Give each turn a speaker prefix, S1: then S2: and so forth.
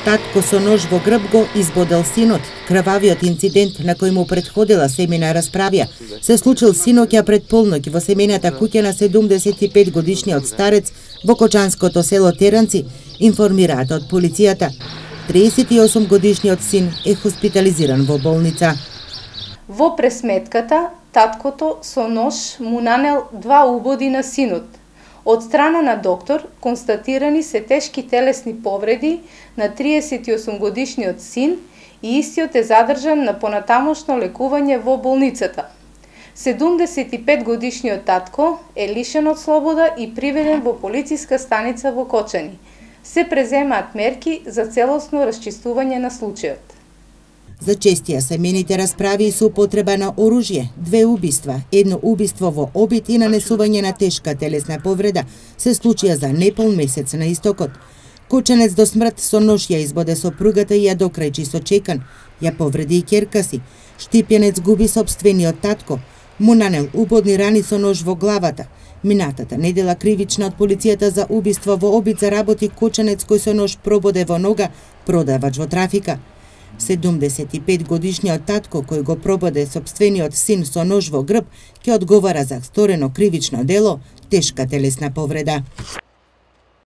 S1: Татко со нож во грб го избодел синот. Крвавиот инцидент на кој му претходила семејна расправја се случил синоќа пред полноќ во семејната куќа на 75 годишниот старец во кочанското село Теранци, информираат од полицијата. 38 годишниот син е хоспитализиран во болница.
S2: Во пресметката, таткото со нож му нанел 2 убоди на синот. Од страна на доктор констатирани се тешки телесни повреди на 38 годишниот син и истиот е задржан на понатамошно лекување во болницата. 75 годишниот татко е лишен од слобода и приведен во полициска станица во Кочани. Се преземаат мерки за целосно расчистување на случајот.
S1: Зачестија семејните расправи со употреба на оружје, 2 убиства, 1 убиство во обид и нанесување на тешка телесна повреда се случија за непол месец на истокот. Кочанец до смрт со нож ја избоде сопругата и ја докрајчи со чекан, ја повреди и ќерка си. Штипјанец губи сопствениот татко, му нанел убодни рани со нож во главата. Минатата недела кривична од полицијата за убиство во обид заработи кочанец кој со нож прободе во нога продавач во трафика. 75 годишниот татко кој го прободе сопствениот син со нож во грб ќе одговара за сторено кривично дело, тешка телесна повреда.